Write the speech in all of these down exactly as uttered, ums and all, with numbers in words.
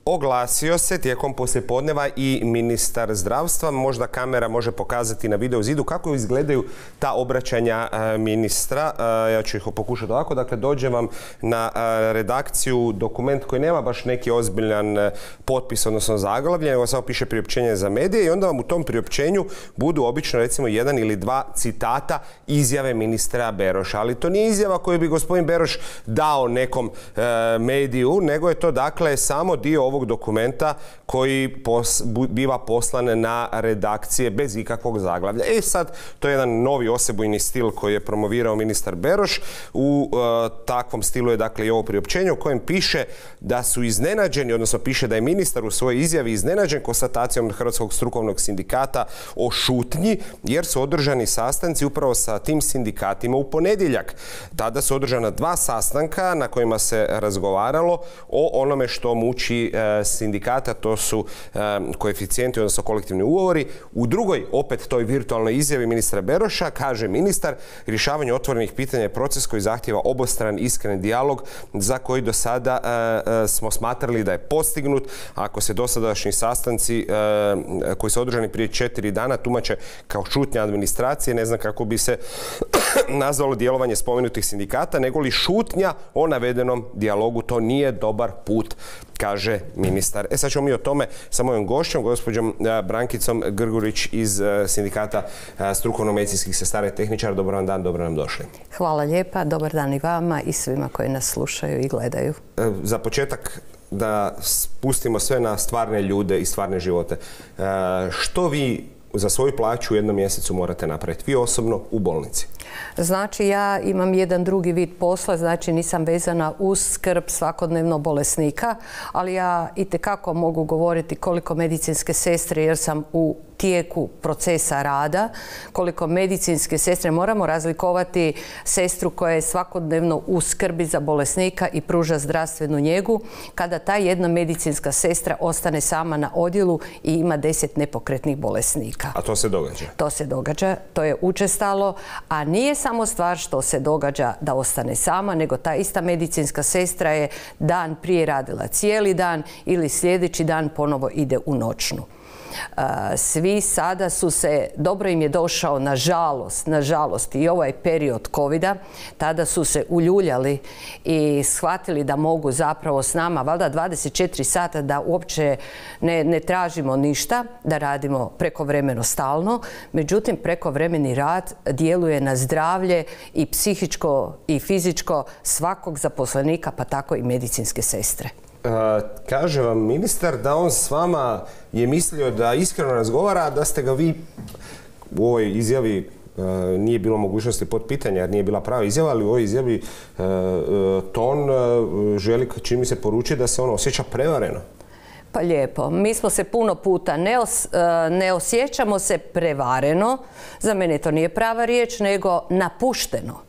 Oglasio se tijekom poslijepodneva i ministar zdravstva. Možda kamera može pokazati na video zidu kako izgledaju ta obraćanja ministra. Ja ću ih pokušati ovako. Dakle, dođe vam na redakciju dokument koji nema baš neki ozbiljan potpis, odnosno zaglavlje, nego samo piše priopćenje za medije i onda vam u tom priopćenju budu obično recimo jedan ili dva citata izjave ministra Beroša. Ali to nije izjava koju bi gospodin Beroš dao nekom mediju, nego je to dakle samo dio ovog dokumenta koji pos, biva poslan na redakcije bez ikakvog zaglavlja. E sad, to je jedan novi osebujni stil koji je promovirao ministar Beroš. U e, takvom stilu je dakle i ovo priopćenje u kojem piše da su iznenađeni, odnosno piše da je ministar u svojoj izjavi iznenađen konstatacijom Hrvatskog strukovnog sindikata o šutnji, jer su održani sastanci upravo sa tim sindikatima u ponedjeljak. Tada su održana dva sastanka na kojima se razgovaralo o onome što muči e, sindikata, to su e, koeficijenti, odnosno kolektivni ugovori. U drugoj, opet toj virtualnoj izjavi ministra Beroša, kaže ministar, rješavanje otvorenih pitanja je proces koji zahtijeva obostran iskren dijalog za koji do sada e, e, smo smatrali da je postignut. Ako se dosadašnji sastanci e, koji su održani prije četiri dana tumače kao šutnja administracije, ne znam kako bi se nazvalo djelovanje spomenutih sindikata, nego li šutnja o navedenom dijalogu. To nije dobar put, kaže ministar. E sad ćemo mi o tome sa mojom gošćom, gospođom Brankicom Grgurić iz sindikata strukovno-medicinskih sestara i tehničara. Dobar vam dan, dobro nam došli. Hvala lijepa, dobar dan i vama i svima koji nas slušaju i gledaju. Za početak da spustimo sve na stvarne ljude i stvarne živote. Što vi za svoju plaću u jednom mjesecu morate napraviti? Vi osobno u bolnici. Znači, ja imam jedan drugi vid posla, znači nisam vezana uz skrb svakodnevno bolesnika, ali ja itekako mogu govoriti koliko medicinske sestre, jer sam u tijeku procesa rada, koliko medicinske sestre, moramo razlikovati sestru koja je svakodnevno u skrbi za bolesnika i pruža zdravstvenu njegu, kada ta jedna medicinska sestra ostane sama na odjelu i ima deset nepokretnih bolesnika. A to se događa? To se događa, to je učestalo, a nije samo stvar što se događa da ostane sama, nego ta ista medicinska sestra je dan prije radila cijeli dan ili sljedeći dan ponovo ide u noćnu. Svi sada su se, dobro im je došao, nažalost, nažalost i ovaj period kovida, tada su se uljuljali i shvatili da mogu zapravo s nama, valjda dvadeset četiri sata, da uopće ne, ne tražimo ništa, da radimo prekovremeno stalno. Međutim, prekovremeni rad djeluje na zdravlje i psihičko i fizičko svakog zaposlenika, pa tako i medicinske sestre. Uh, kaže vam ministar da on s vama je mislio da iskreno razgovara, da ste ga vi u ovoj izjavi, uh, nije bilo mogućnosti potpitanja jer nije bila prava izjava, ali u ovoj izjavi uh, uh, ton uh, želi, čini mi se, poručiti da se on osjeća prevareno. Pa lijepo. Mi smo se puno puta, ne, os, ne osjećamo se prevareno, za mene to nije prava riječ, nego napušteno.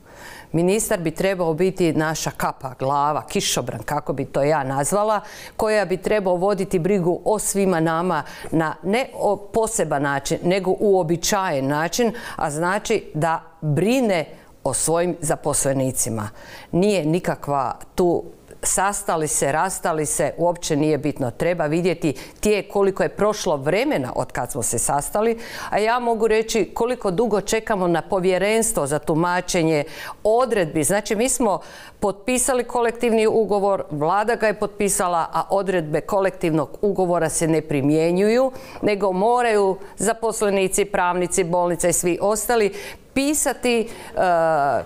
Ministar bi trebao biti naša kapa, glava, kišobran, kako bi to ja nazvala, koja bi trebao voditi brigu o svima nama na ne o poseban način, nego uobičajen način, a znači da brine o svojim zaposlenicima. Nije nikakva tu sastali se, rastali se, uopće nije bitno. Treba vidjeti tijek koliko je prošlo vremena od kad smo se sastali, a ja mogu reći koliko dugo čekamo na povjerenstvo za tumačenje odredbi. Znači, mi smo potpisali kolektivni ugovor, vlada ga je potpisala, a odredbe kolektivnog ugovora se ne primjenjuju, nego moraju zaposlenici, pravnici, bolnice i svi ostali pisati e,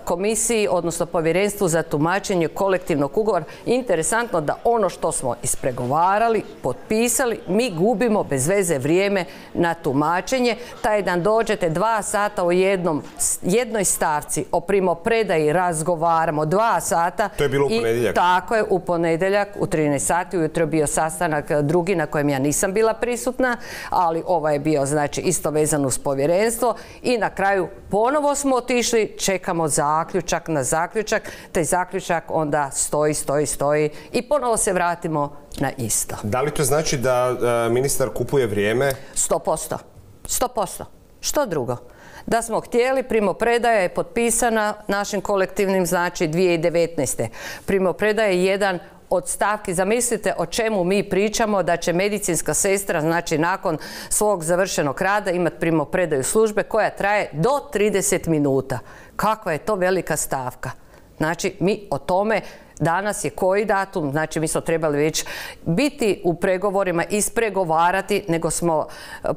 komisiji, odnosno povjerenstvu za tumačenje kolektivnog ugovora. Interesantno da ono što smo ispregovarali, potpisali, mi gubimo bez veze vrijeme na tumačenje. Taj dan dođete dva sata u jednom, jednoj stavci o primopredaji razgovaramo dva sata. To je bilo u ponedjeljak. I tako je, u ponedjeljak u trinaest sati. Ujutro je bio sastanak drugi na kojem ja nisam bila prisutna, ali ovaj je bio znači isto vezan uz povjerenstvo i na kraju ponovno Ponovo smo otišli, čekamo zaključak na zaključak, taj zaključak onda stoji, stoji, stoji i ponovo se vratimo na isto. Da li to znači da uh, ministar kupuje vrijeme? Sto posto. Sto posto. Što drugo? Da smo htjeli, primopredaja je potpisana našim kolektivnim, znači dvije tisuće devetnaeste. Primopredaja je jedan od stavki, zamislite o čemu mi pričamo, da će medicinska sestra, znači nakon svog završenog rada imati primopredaju službe koja traje do trideset minuta. Kakva je to velika stavka? Znači, mi o tome, danas je koji datum, znači mi smo trebali već biti u pregovorima, ispregovarati, nego smo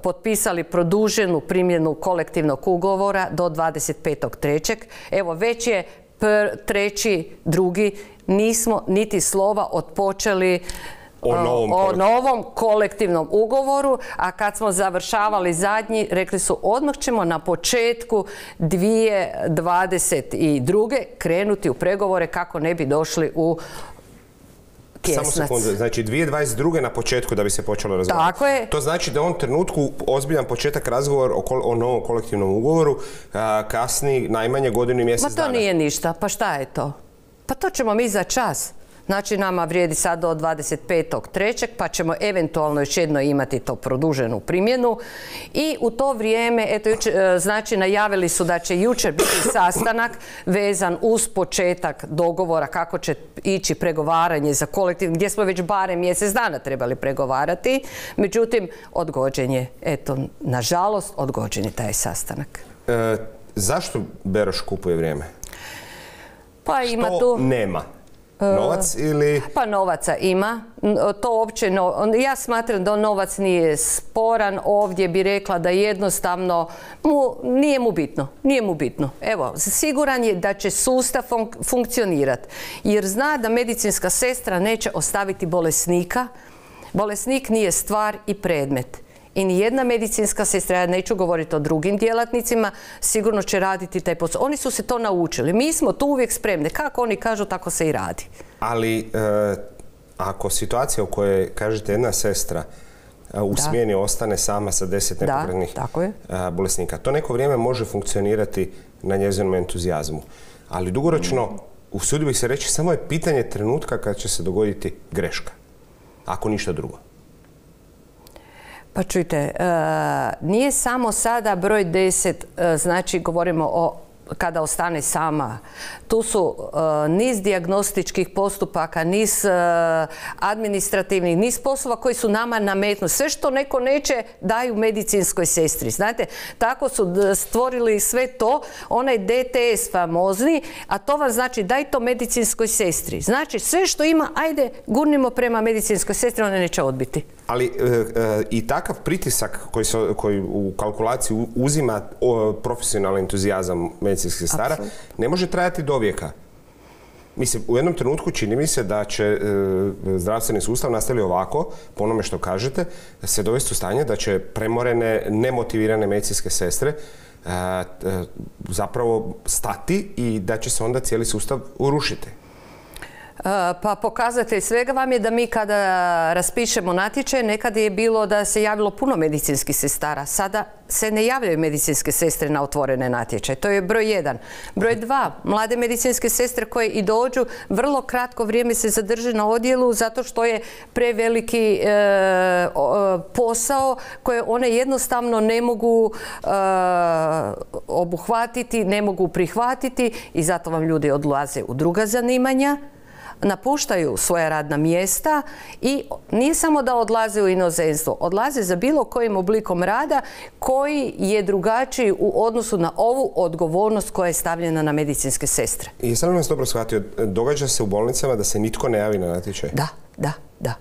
potpisali produženu primjenu kolektivnog ugovora do dvadeset petog trećeg Evo, već je treći, drugi, nismo niti slova otpočeli O novom, o novom kolektivnom ugovoru, a kad smo završavali zadnji, rekli su odmah ćemo na početku dvije tisuće dvadeset druge krenuti u pregovore kako ne bi došli u tjesnac. Samo sekundu, znači dvije tisuće dvadeset druge na početku da bi se počelo razgovarati. Tako je. To znači da u ovom trenutku ozbiljan početak razgovor o, o novom kolektivnom ugovoru a, kasni najmanje godinu i mjesec dana. Ma to nije ništa, pa šta je to? Pa to ćemo mi za čas. Znači, nama vrijedi sad do dvadeset petog trećeg pa ćemo eventualno još jedno imati to produženu primjenu. I u to vrijeme, eto, jučer, znači, najavili su da će jučer biti sastanak vezan uz početak dogovora kako će ići pregovaranje za kolektiv, gdje smo već barem mjesec dana trebali pregovarati. Međutim, odgođen je, eto, nažalost, odgođen je taj sastanak. E, zašto Beroš kupuje vrijeme? Pa ima Što tu... nema? Novac ili... Pa novaca ima. To uopće, no, ja smatram da novac nije sporan. Ovdje bi rekla da jednostavno mu, nije mu bitno. Nije mu bitno. Evo, siguran je da će sustav fun funkcionirati. Jer zna da medicinska sestra neće ostaviti bolesnika. Bolesnik nije stvar i predmet. I nijedna medicinska sestra, ja neću govoriti o drugim djelatnicima, sigurno će raditi taj posao. Oni su se to naučili. Mi smo tu uvijek spremni. Kako oni kažu, tako se i radi. Ali e, ako situacija u kojoj, kažete, jedna sestra e, u da. smjeni ostane sama sa deset nepokretnih e, bolesnika, to neko vrijeme može funkcionirati na njezinom entuzijazmu. Ali dugoročno, mm. usudio bih se reći, samo je pitanje trenutka kad će se dogoditi greška. Ako ništa drugo. Pa čujte, nije samo sada broj deset, znači govorimo o kada ostane sama. Tu su niz dijagnostičkih postupaka, niz administrativnih, niz poslova koji su nama nametnuti. Sve što neko neće daju medicinskoj sestri. Znate, tako su stvorili sve to, onaj D T S famozni, a to vam znači daj to medicinskoj sestri. Znači, sve što ima, ajde, gurnimo prema medicinskoj sestri, ona neće odbiti. Ali e, e, i takav pritisak koji, se, koji u kalkulaciji uzima o, profesionalni entuzijazam medicinskih sestara ne može trajati do vijeka. Mislim, u jednom trenutku čini mi se da će e, zdravstveni sustav nastaviti ovako, po onome što kažete, se dovesti u stanje da će premorene, nemotivirane medicinske sestre e, e, zapravo stati i da će se onda cijeli sustav urušiti. Pa pokazatelj svega vam je da mi kada raspišemo natječaj, nekad je bilo da se javilo puno medicinskih sestara. Sada se ne javljaju medicinske sestre na otvorene natječaje. To je broj jedan. Broj dva, mlade medicinske sestre koje i dođu, vrlo kratko vrijeme se zadrže na odjelu zato što je preveliki e, posao koje one jednostavno ne mogu e, obuhvatiti, ne mogu prihvatiti i zato vam ljudi odlaze u druga zanimanja. Napuštaju svoja radna mjesta i nije samo da odlaze u inozemstvo, odlaze za bilo kojim oblikom rada koji je drugačiji u odnosu na ovu odgovornost koja je stavljena na medicinske sestre. I sam vas dobro shvatio, događa se u bolnicama da se nitko ne javi na natječaj? Da, da, da.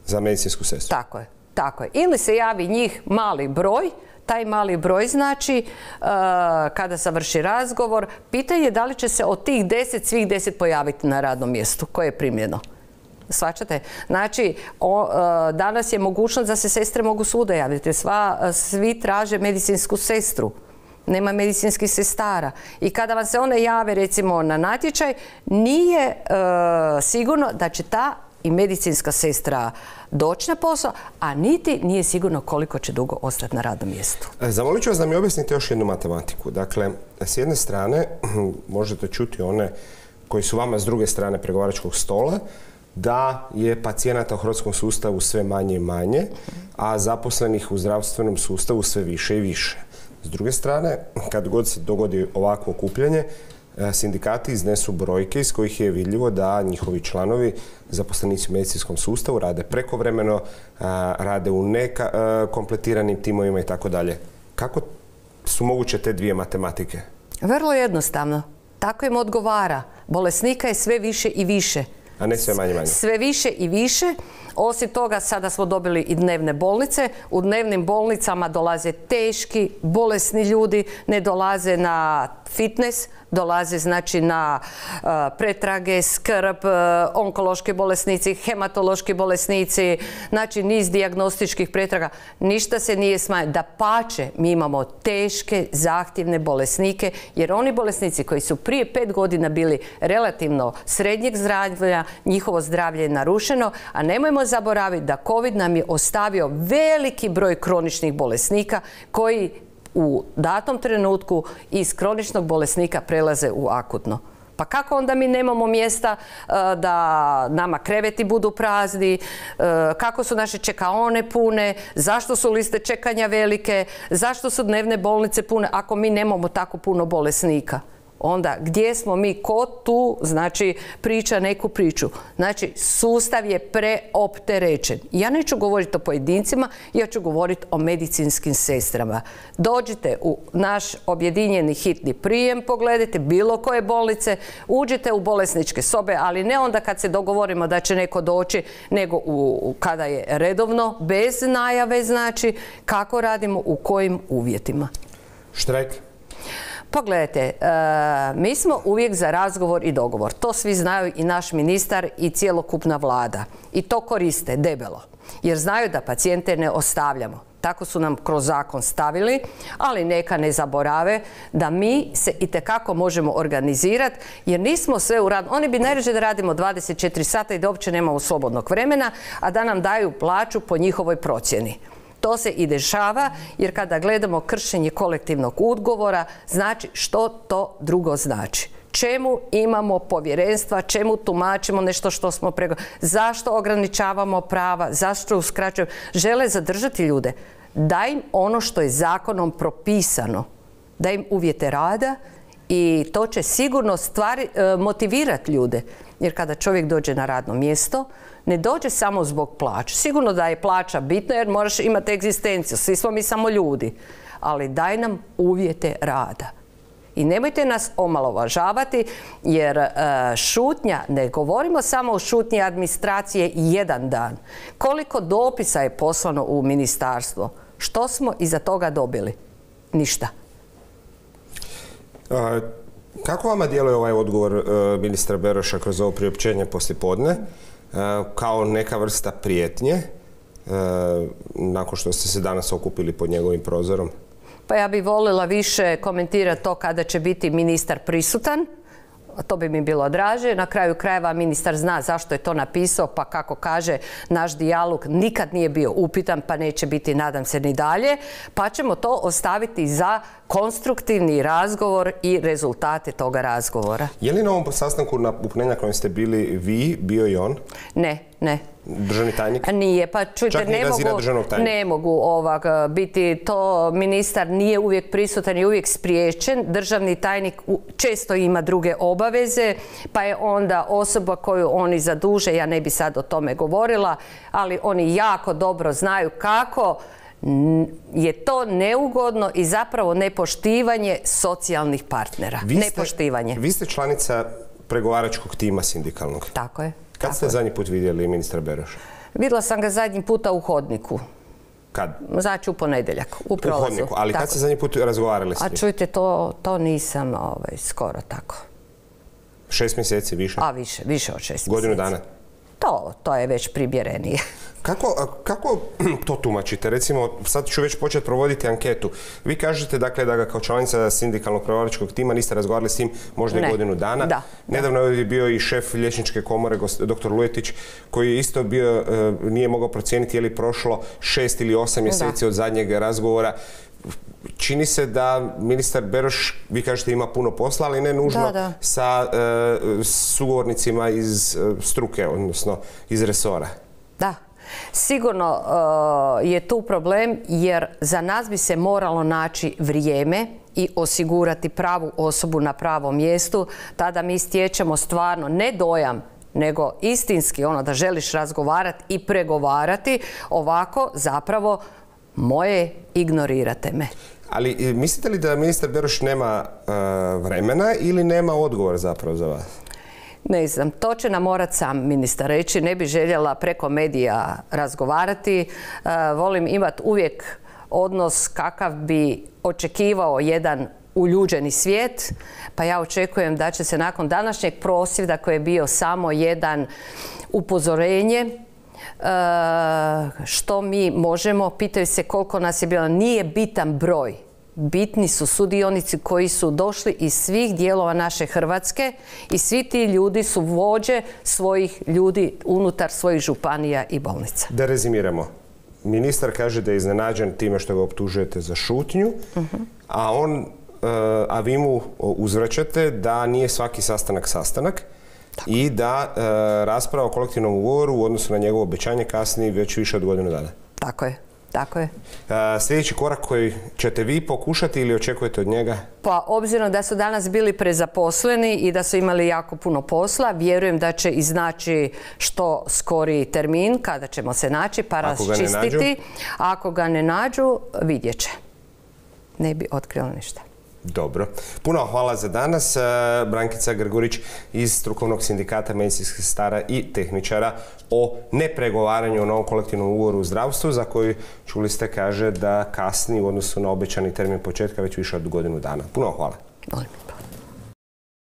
Za medicinsku sestru? Tako je, tako je. Ili se javi njih mali broj, taj mali broj znači uh, kada završi razgovor, pitanje je da li će se od tih deset, svih deset pojaviti na radnom mjestu koje je primljeno. Shvaćate? Znači, o, uh, danas je mogućnost da se sestre mogu svuda javiti. Sva, uh, svi traže medicinsku sestru. Nema medicinskih sestara. I kada vam se one jave recimo na natječaj, nije uh, sigurno da će ta i medicinska sestra doći na posao, a niti nije sigurno koliko će dugo ostati na radnom mjestu. Zamolit ću vas da mi objasnite još jednu matematiku. Dakle, s jedne strane možete čuti one koji su vama s druge strane pregovaračkog stola, da je pacijenata u hrvatskom sustavu sve manje i manje, a zaposlenih u zdravstvenom sustavu sve više i više. S druge strane, kad god se dogodi ovakvo okupljanje, sindikati iznesu brojke iz kojih je vidljivo da njihovi članovi, zaposlenici u medicinskom sustavu, rade prekovremeno, rade u nekompletiranim timovima i tako dalje. Kako su moguće te dvije matematike? Vrlo jednostavno. Tako im odgovara. Bolesnika je sve više i više. A ne sve manje manje. Sve više i više. Osim toga, sada smo dobili i dnevne bolnice. U dnevnim bolnicama dolaze teški, bolesni ljudi, ne dolaze na fitness, dolaze znači na uh, pretrage, skrb, uh, onkološki bolesnici, hematološki bolesnici, znači niz dijagnostičkih pretraga. Ništa se nije smanjilo. Dapače, mi imamo teške, zahtjevne bolesnike, jer oni bolesnici koji su prije pet godina bili relativno srednjeg zdravlja, njihovo zdravlje je narušeno, a nemojmo zaboraviti da COVID nam je ostavio veliki broj kroničnih bolesnika koji u datom trenutku iz kroničnog bolesnika prelaze u akutno. Pa kako onda mi nemamo mjesta uh, da nama kreveti budu prazni, uh, kako su naše čekaone pune, zašto su liste čekanja velike, zašto su dnevne bolnice pune ako mi nemamo tako puno bolesnika? Onda gdje smo mi, ko tu znači priča neku priču? Znači sustav je preopterećen. Ja neću govoriti o pojedincima, ja ću govoriti o medicinskim sestrama. Dođite u naš objedinjeni hitni prijem, pogledajte bilo koje bolnice, uđite u bolesničke sobe, ali ne onda kad se dogovorimo da će neko doći, nego u, kada je redovno, bez najave, znači kako radimo, u kojim uvjetima. Štrajk? Pogledajte, mi smo uvijek za razgovor i dogovor. To svi znaju i naš ministar i cjelokupna vlada. I to koriste debelo. Jer znaju da pacijente ne ostavljamo. Tako su nam kroz zakon stavili, ali neka ne zaborave da mi se itekako možemo organizirati jer nismo sve u radu. Oni bi najrađe da radimo dvadeset četiri sata i da uopće nemamo slobodnog vremena, a da nam daju plaću po njihovoj procjeni. To se i dešava jer kada gledamo kršenje kolektivnog ugovora, znači što to drugo znači. Čemu imamo povjerenstva, čemu tumačimo nešto što smo prego... Zašto ograničavamo prava, zašto uskraćujemo? Žele zadržati ljude. Daj im ono što je zakonom propisano. Daj im uvjete rada i to će sigurno stvari, motivirati ljude. Jer kada čovjek dođe na radno mjesto, ne dođe samo zbog plaće. Sigurno da je plaća bitna jer moraš imati egzistenciju. Svi smo mi samo ljudi. Ali daj nam uvjete rada. I nemojte nas omalovažavati jer uh, šutnja, ne govorimo samo o šutnji administracije jedan dan. Koliko dopisa je poslano u ministarstvo? Što smo iza toga dobili? Ništa. A, kako vama djeluje ovaj odgovor uh, ministra Beroša kroz ovo priopćenje poslijepodne? Uh, kao neka vrsta prijetnje uh, nakon što ste se danas okupili pod njegovim prozorom? Pa ja bih voljela više komentirati to kada će biti ministar prisutan. To bi mi bilo draže. Na kraju krajeva ministar zna zašto je to napisao, pa kako kaže, naš dijalog nikad nije bio upitan, pa neće biti, nadam se, ni dalje. Pa ćemo to ostaviti za konstruktivni razgovor i rezultate toga razgovora. Je li na ovom sastanku napuhnenja kojem ste bili vi, bio i on? Ne, ne. Državni tajnik? Nije, pa čujte, ne mogu, ne mogu ovak biti to, ministar nije uvijek prisutan i uvijek spriječen, državni tajnik često ima druge obaveze, pa je onda osoba koju oni zaduže, ja ne bi sad o tome govorila, ali oni jako dobro znaju kako je to neugodno i zapravo nepoštivanje socijalnih partnera. Vi ste, nepoštivanje. Vi ste članica pregovaračkog tima sindikalnog. Tako je. Kad ste zadnji put vidjeli ministra Beroša? Vidjela sam ga zadnji puta u hodniku. Kad? Znači u ponedjeljak, u prolazu. U hodniku, ali tako. Kad ste zadnji put razgovarali s njim? A čujte, to, to nisam ovaj, skoro tako. Šest mjeseci više? A više, više od šest Godinu mjeseci. dana? To, to je već primjerenije. Kako, kako to tumačite? Recimo, sad ću već početi provoditi anketu. Vi kažete dakle da ga kao članica sindikalnog pregovaračkog tima niste razgovarali s njim možda i godinu dana. Da. Nedavno je bio i šef liječničke komore, doktor Lujetić, koji je isto bio, nije mogao procijeniti je li prošlo šest ili osam mjeseci da. od zadnjeg razgovora. Čini se da ministar Beroš, vi kažete, ima puno posla, ali ne nužno da, da. sa uh, sugovornicima iz uh, struke, odnosno iz resora. Da. Sigurno uh, je tu problem jer za nas bi se moralo naći vrijeme i osigurati pravu osobu na pravom mjestu. Tada mi stječemo stvarno ne dojam, nego istinski ono da želiš razgovarati i pregovarati. Ovako zapravo moje ignorirate me. Ali mislite li da ministar Beroš nema uh, vremena ili nema odgovor zapravo za vas? Ne znam, to će nam morat sam ministar reći. Ne bi željela preko medija razgovarati. Uh, volim imati uvijek odnos kakav bi očekivao jedan uljuđeni svijet, pa ja očekujem da će se nakon današnjeg prosvjeda koji je bio samo jedan upozorenje što mi možemo, pitaju se koliko nas je bilo, nije bitan broj. Bitni su sudionici koji su došli iz svih dijelova naše Hrvatske i svi ti ljudi su vođe svojih ljudi unutar svojih županija i bolnica. Da rezimiramo. Ministar kaže da je iznenađen time što ga optužujete za šutnju, uh-huh. a on a vi mu uzvraćate da nije svaki sastanak sastanak. Tako. I da e, rasprava o kolektivnom ugovoru u odnosu na njegovo obećanje kasni već više od godinu dana. Tako je, tako je. E, sljedeći korak koji ćete vi pokušati ili očekujete od njega? Pa obzirom da su danas bili prezaposleni i da su imali jako puno posla, vjerujem da će iznaći što skoriji termin kada ćemo se naći pa raščistiti. Ako ga ne nađu, vidjet će. Ne bi otkrila ništa. Dobro. Puno hvala za danas. Brankica Grgurić iz Strukovnog sindikata medicinskih sestara i tehničara o nepregovaranju o novom kolektivnom ugovoru u zdravstvu, za koji, čuli ste, kaže da kasni u odnosu na obećani termin početka već više od godinu dana. Puno hvala. Molim.